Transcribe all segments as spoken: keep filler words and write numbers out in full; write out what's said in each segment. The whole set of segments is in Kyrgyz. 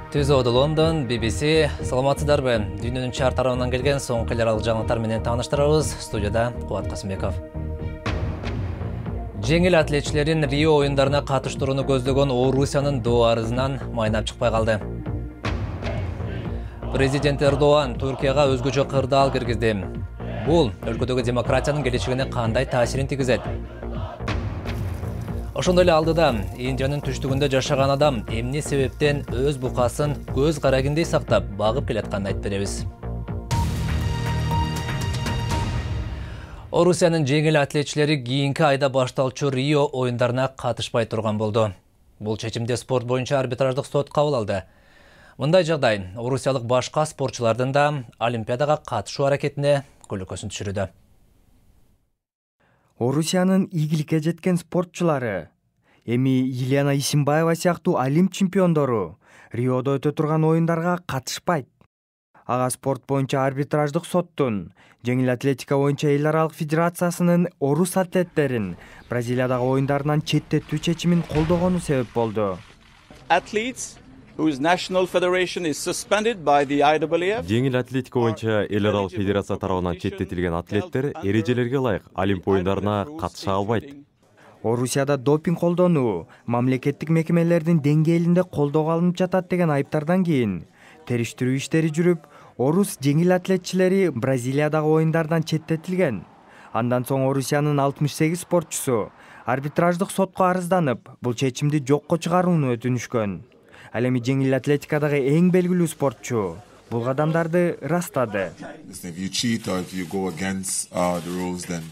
Түзөөдө Лондон, би би си, саламатсыздарбы? Дүйнөнүн чар тарабынан келген соңку эл аралык жаңылыктар менен тааныштырабыз. Студияда Кубат Касымбеков. Жеңил атлетчилерин Рио оюндарына катыштырууну көздөгөн Орусиянын доо арызынан майнап чыкпай калды. Президент Эрдоган Түркияга өзгөчө кырдаал киргизди. Бул өлкөдөгү демократиянын келечегине кандай таасирин тийгизет? Ошондой эле алдыда Индиянын түштүгүндө жашаган адам эмне себептен өз букасын көз карагиндей сактап багып келатканын айтып беребиз. Орусиянын жеңил атлетчилери кийинки айда башталчу Рио оюндарына катышпай турган болду. Бул чечимди спорт боюнча арбитраждык сот кабыл алды. Мындай жагдай орусиялык башка спортчулардын да Олимпиадага катышуу аракетине көлөкөсүн түшүрүүдө. Орусиянын ийгиликке жеткен спортчулары, эми Елена Исимбаева сыяктуу олимп чемпиондору Риодо өтө турган оюндарга катышпайт. Ага спорт боюнча арбитраждык соттун жеңил атлетика боюнча эл аралык федерациясынын орус атлеттерин Бразилиядагы оюндарынан четтетүү чечимин колдогону себеп болду. Жеңил атлетика боюнча эл аралык федерация тарабынан четтетилген атлеттер эрежелерге ылайык олимп оюндарына катыша албайт. Орусияда допинг колдонуу мамлекеттик мекемелердин деңгээлинде колдоого алынып жатат деген айыптардан кийин териштирүү иштери жүрүп, орус жеңил атлетчилери Бразилиядагы оюндардан четтетилген. Андан соң Орусиянын алтымыш сегиз спортчусу арбитраждык сотко арызданып, бул чечимди жокко чыгарууну өтүнүшкөн. Ал эми жеңил атлетикадагы эң белгилүү спортчу бул кадамдарды ырастады.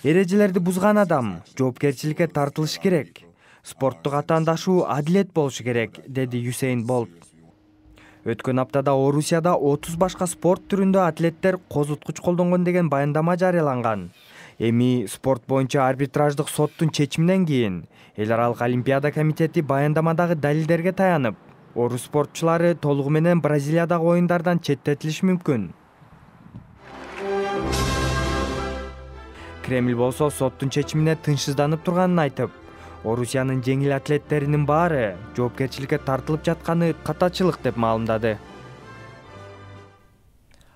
Эрежелерди бузган адам жоопкерчиликке тартылышы керек. Спорттук атаандашуу адилет болушу керек, деди Юсейн Болт. Өткөн аптада Орусияда отуз башка спорт түрүндө атлеттер козуткуч колдонгон деген баяндама жарыяланган. Эми спорт боюнча арбитраждык соттун чечиминен кийин эл аралык олимпиада комитети баяндамадагы далилдерге таянып, орус спортчулары толугу менен Бразилиядагы оюндардан четтетилиши мүмкүн. Кремль болсо соттун чечимине тынчсызданып турганын айтып, Орусиянын жеңил атлеттеринин баары жоопкерчиликке тартылып жатканы катачылык деп маалымдады.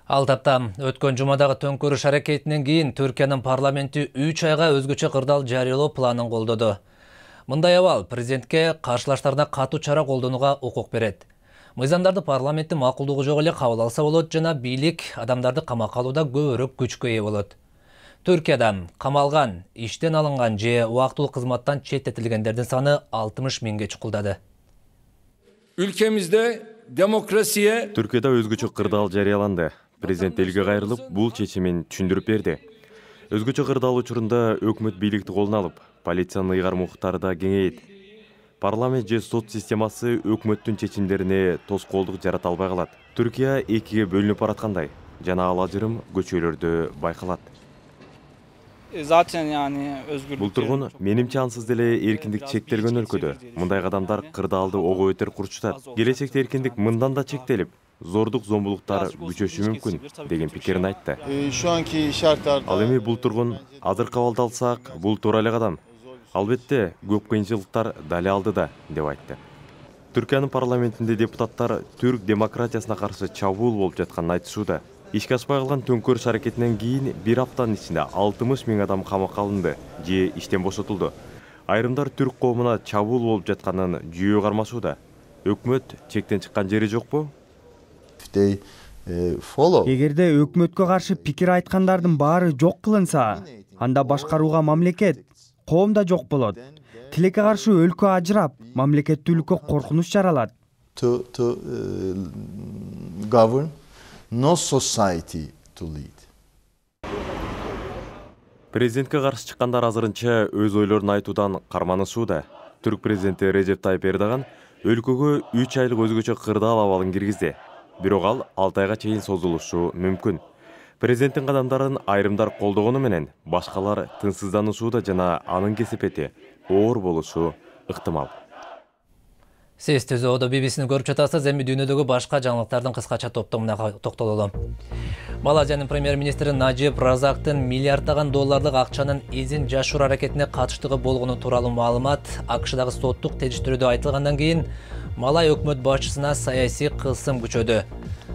Ал тапта өткөн жумадагы төңкөрүш аракетинен кийин Түркиянын парламенти үч айга өзгөчө кырдаал жарыялоо планын колдоду. Мындай абал президентке каршылаштарына катуу чара колдонууга укук берет. Мыйзамдарды парламенттин макулдугу жок эле кабыл алса болот жана бийлик адамдарды камакка алууда көбүрөөк күчкө ээ болот. Түркияда камалган, иштен алынган же убактылуу кызматтан четтетилгендердин саны алтымыш миңге чукулдады. Ülkemizde demokrasiye Түркияда өзгөчө кырдаал жарыяланды. Президент элге кайрылып, бул чечимин түшүндүрүп берди. Өзгөчө кырдаал учурунда өкмөт бийликти колуна алып, полициянын ыйгарым укуктары да кеңейет. Парламент же сот системасы өкмөттүн чечимдерине тоскоолдук жарата албай калат. Түркия экиге бөлүнүп бараткандай жана ал ажырым көчөлөрдө байкалат. Zaten yani özgürlük. Бул тургун менимче ансыз деле эркиндик чектелген өлкөдө мындай кадамдар кырдаалды ого бетер курчутат. Келечекте эркиндик мындан да чектелип, зордук зомбулуктар күчөшү мүмкүн деген пикирин айтты. Ал эми бул тургун азыр кабыл алсак, бул туура эле кадам. Албетте, көп кыйынчылыктар дали алдыда деп айтты. Түркиянын парламентинде депутаттар түрк демократиясына каршы чабуул болуп жатканын айтышууда. Ишке ашпай калган төңкөрүш аракетинен кийин бир аптанын ичинде алтымыш миң адам камакка алынды же иштен бошотулду. Айрымдар түрк коомуна чабуул болуп жатканын жүйө кармашууда. Өкмөт чектен чыккан жери жокпу? Эгерде өкмөткө каршы пикир айткандардын баары жок кылынса, анда башкарууга мамлекет, коом да жок болот. Тилекке каршы өлкө ажырап, мамлекеттүүлүккө коркунуч жаралат. No society to lead. Президентке каршы чыккандар азырынча өз ойлорун айтуудан карманышууда. Түрк президенти Режеп Тайып Эрдоган өлкөгө үч айлык өзгөчө кырдаал абалын киргизди. Бирок ал алты айга чейин созулушу мүмкүн. Президенттин кадамдарын айрымдар колдогону менен башкалар тынчсызданышууда жана анын кесепети оор болушу ыктымал. Сиз Түзөөдө би би сини көрүп жатасыз. Эми дүйнөдөгү башка жаңылыктардын кыскача топтомуна токтололу. Малайзиянын премьер-министри Нажиб Разактын миллиарддаган долларлык акчанын изин жашыруу аракетине катыштыгы болгону тууралуу маалымат АКШдагы соттук териштирүүдө айтылгандан кийин Малай өкмөт башчысына саясий кылсым күчөдү.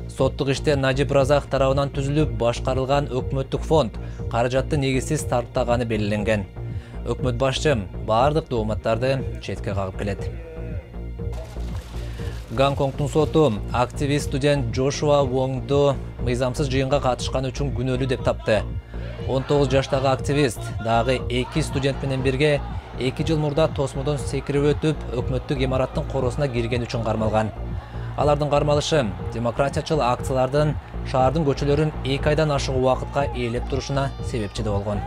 Соттук иште Надип Разак тарабынан түзүлүп башкарылган өкмөттүк фонд каражатты негизсиз тарптаганы белгиленген. Өкмөт башчы бардык дооматтарды четке кагып келет. Гонконгдун соту активист студент Джошуа Вонгду мыйзамсыз жыйынга катышканы үчүн күнөөлүү деп тапты. он тогуз жаштагы активист дагы эки студент менен бирге эки жыл мурда тосмодон секирип өтүп, өкмөттүк имараттын коросуна кирген үчүн кармалган. Алардын кармалышы демократиячыл акциялардын шаардын көчөлөрүн эки айдан ашык убакытка ээлеп турушуна себепчи болгон.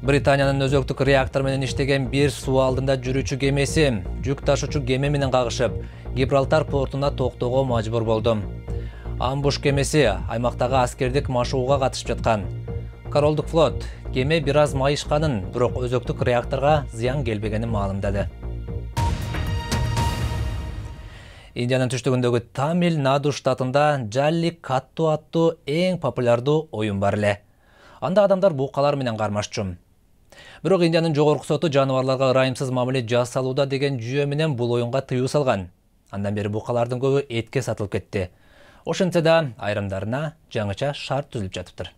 Британиянын өзөктүк реактор менен иштеген бир суу алдында жүрүүчү кемеси жүк ташуучу кеме менен кагышып, Гибралтар портуна токтоого мажбур болду. Амбуш кемеси аймактагы аскердик машыгууга катышып жаткан. Королдук флот кеме бир аз майышканын, бирок өзөктүк реакторго зыян келбегенин маалымдады. Индиянын түштүгүндөгү Тамил-Наду штатында Жалликатту аттуу эң популярдуу оюн бар эле. Анда адамдар букалар менен кармашчу. Бирок Индиянын жогорку соту жаныбарларга ырайымсыз мамиле жасалууда деген жүйө менен бул оюнга тыюу салган. Андан бери букалардын көбү этке сатылып кетти. Ошентсе да айрымдарына жаңыча шарт түзүлүп жатыптыр.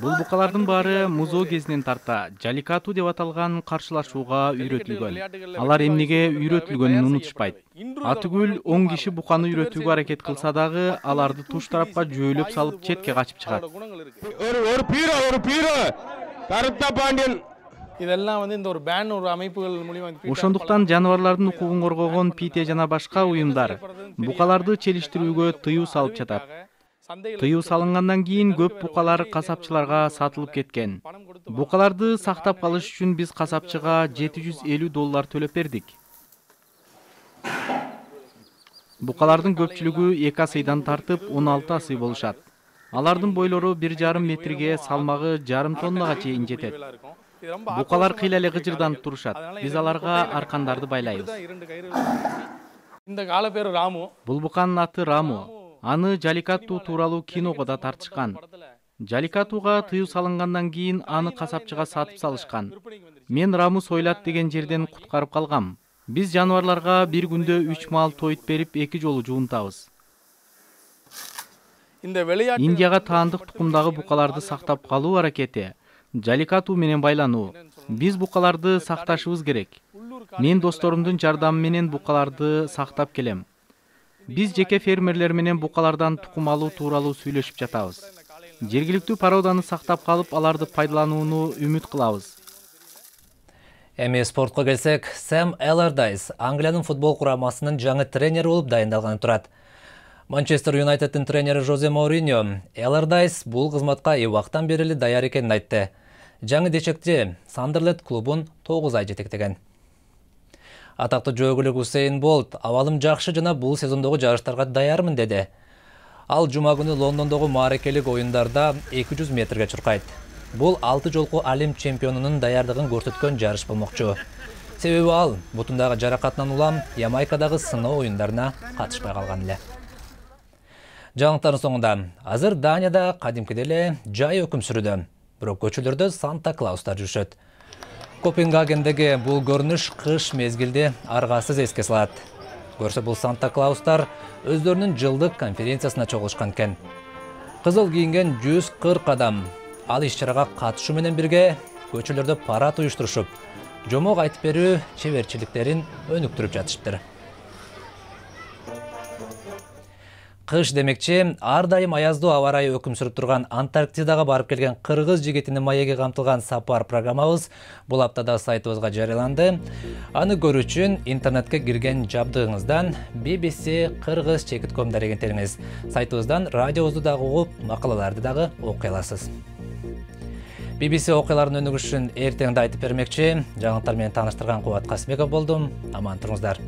Бул букалардын баары музоо кезинен тарта жаликату деп аталган каршылашууга үйрөтүлгөн. Алар эмнеге үйрөтүлгөнүн унутушпайт. Атүгүл он киши буканы үйрөтүүгө аракет кылса дагы, аларды туш тарапка жөөлөп салып четке качып чыгат. Ошондуктан жаныбарлардын укугун коргогон Пите жана башка уюмдар букаларды челиштирүүгө тыюу салып жатат. Тыюу салынгандан кийин көп букалар касапчыларга сатылып кеткен. Букаларды сактап калыш үчүн биз касапчыга жети жүз элүү доллар төлөп бердик. Букалардын көпчүлүгү эки асыйдан тартып он алты асый болушат. Алардын бойлору бир жарым метрге, салмагы жарым тоннага чейин жетет. Букалар кыйла эле гыжырданып турушат. Биз аларга аркандарды байлайбыз. Бул буканын аты Раму. Аны Жаликату тууралуу киного да тартышкан. Жаликатуга тыюу салынгандан кийин аны касапчыга сатып салышкан. Мен Раму сойлат деген жерден куткарып калгам. Биз жаныбарларга бир күндө үч маал тойт берип эки жолу жуунтабыз. Индияга таандык тукумдагы букаларды сактап калуу аракети Жаликату менен байлануу. Биз букаларды сакташыбыз керек. Мен досторумдун жардамы менен букаларды сактап келем. Биз жеке фермерлер менен букалардан тукум алуу тууралуу сүйлөшүп жатабыз. Жергиликтүү породаны сактап калып, аларды пайдаланууну үмүт кылабыз. Эми спортко келсек, Сэм Эллардайс Англиянын футбол курамасынын жаңы тренери болуп дайындалганы турат. Манчестер Юнайтеддин тренери Жозе Мауриньо Эллардайс бул кызматка убактан бери эле даяр экенин айтты. Жаңы дечекти Сандерлет клубун тогуз ай жетектеген. Атактуу жөөгүлүк Усейн Болт абалым жакшы жана бул сезондогу жарыштарга даярмын деди. Ал жума күнү Лондондогу мааракелик оюндарда эки жүз метрге чуркайт. Бул алты жолку алим чемпионунун даярдыгын көрсөткөн жарыш болмокчу. Себеби ал бутундагы жаракатынан улам Ямайкадагы сыноо оюндарына катышпай калган эле. Жаңылыктардын соңунда азыр Данияда кадимкидей эле жай өкүм сүрүүдө, бирок көчөлөрдө Санта Клаустар жүрүшөт. Копенгагендеги бул көрүнүш кыш мезгилди аргасыз эске салат. Көрсө бул Санта Клаустар өздөрүнүн жылдык конференциясына чогулушкан экен. Кызыл кийинген жүз кырк адам ал иш-чарага катышуу менен бирге көчөлөрдө парад уюштурушуп, жомок айтып берүү чеберчиликтерин өнүктүрүп жатышыптыр. Кыш демекчи, ар дайым аяздуу аба ырайы өкүм сүрүп турган Антарктидага барып келген кыргыз жигитинин маеги камтылган сапар программабыз бул аптада сайтыбызга жарыяланды. Аны көрүү үчүн интернетке кирген жабдыгыңыздан би би си кыргыз чекит точка ком дарегентеңиз. Сайтыбыздан радиобузду дагы угуп, макалаларды дагы окуй аласыз. би би си окуяларын өнүгүшүн эртең да айтып бермекчи. Жаңылыктар менен тааныштырган Кубат Касымбеков болдум. Аман туруңуздар.